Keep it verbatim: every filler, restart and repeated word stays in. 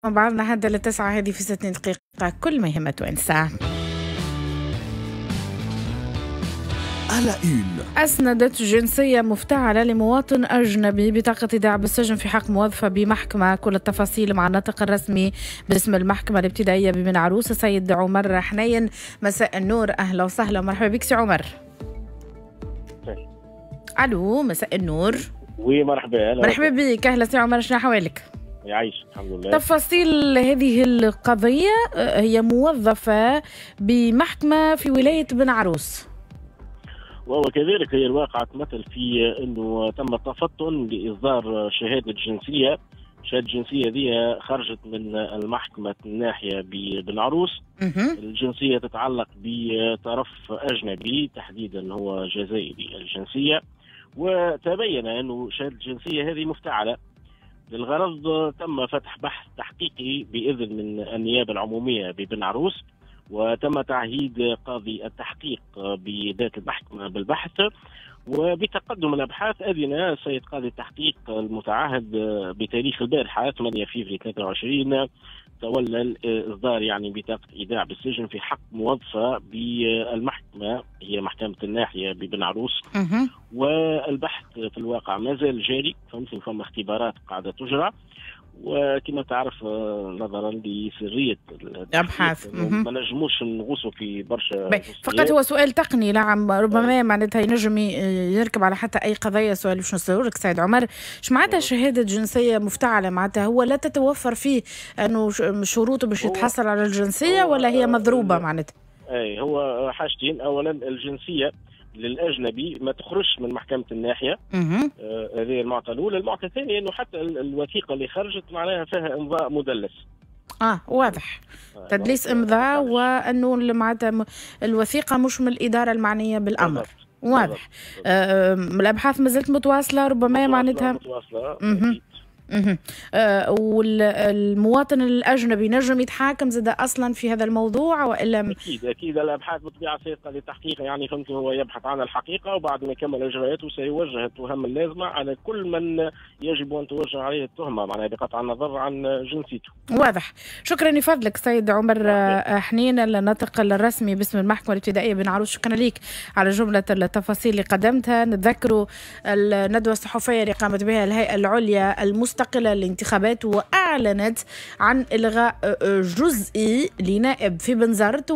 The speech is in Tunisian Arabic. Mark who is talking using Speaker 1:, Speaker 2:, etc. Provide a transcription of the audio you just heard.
Speaker 1: مع بعضنا حتى للتسعة هذه في ستين دقيقة كل ما يهم توانسة. أسندت جنسية مفتعلة لمواطن أجنبي بطاقة إيداع بالسجن في حق موظفة بمحكمة. كل التفاصيل مع الناطق الرسمي باسم المحكمة الابتدائية ببن عروس السيد عمر حنين. مساء النور، أهلا وسهلا ومرحبا بك سي عمر. ألو، مساء النور.
Speaker 2: oui مرحبا.
Speaker 1: مرحبا بك، أهلا سي عمر، شنو أحوالك؟
Speaker 2: يعيش الحمد لله.
Speaker 1: تفاصيل هذه القضية، هي موظفة بمحكمة في ولاية بن عروس.
Speaker 2: وكذلك هي الواقعة تمثل في أنه تم التفطن لإصدار شهادة جنسية، شهادة الجنسية دي خرجت من المحكمة الناحية ببن عروس. الجنسية تتعلق بطرف أجنبي، تحديدا هو جزائري الجنسية، وتبين أنه شهادة الجنسية هذه مفتعلة. للغرض تم فتح بحث تحقيقي بإذن من النيابة العمومية ببن عروس، وتم تعهيد قاضي التحقيق بذات المحكمة بالبحث، وبتقدم الأبحاث أذن السيد قاضي التحقيق المتعهد بتاريخ البارحة ثمانية فيفري ثلاثة وعشرين تولى إصدار يعني بطاقة إيداع بالسجن في حق موظفة بالمحكمة، هي محكمة الناحية ببن عروس. والبحث في الواقع ما زال جاري، فهمت، فما اختبارات قاعدة تجرى، وكما تعرف نظرا لسريه
Speaker 1: الابحاث
Speaker 2: ما نجموش نغوصوا في برشا.
Speaker 1: فقط هو سؤال تقني، نعم، ربما معناتها ينجم يركب على حتى اي قضية. سؤال باش نسألك لك سيد عمر، اش معناتها شهادة جنسية مفتعله؟ معناتها هو لا تتوفر فيه انه شروطه باش يتحصل على الجنسية، ولا هي مضروبة معناتها؟
Speaker 2: اي هو حاجتين، اولا الجنسية للاجنبي ما تخرجش من محكمة الناحية، هذه آه المعطى الاولى. المعطى الثاني انه حتى الوثيقة اللي خرجت معناها فيها امضاء مدلس.
Speaker 1: اه واضح، آه تدليس امضاء، وانه معناتها الوثيقة مش من الادارة المعنية بالامر. واضح. آه الابحاث ما زالت متواصلة، ربما معناتها
Speaker 2: متواصلة.
Speaker 1: اها آه والمواطن الاجنبي نجم يتحاكم زاد اصلا في هذا الموضوع والا؟
Speaker 2: اكيد اكيد، الابحاث بالطبيعة سيبقى للتحقيق، يعني فهمت، هو يبحث عن الحقيقة، وبعد ما يكمل اجراءاته سيوجه التهم اللازمة على كل من يجب ان توجه عليه التهمة، معناها بقطع النظر عن جنسيته.
Speaker 1: واضح، شكرا لفضلك سيد عمر حنين الناطق الرسمي باسم المحكمة الابتدائية بن عروس، شكرا لك على جملة التفاصيل اللي قدمتها. نتذكروا الندوة الصحفية اللي قامت بها الهيئة العليا المستقلة للانتخابات، وأعلنت عن إلغاء جزئي لنائب في بنزرت.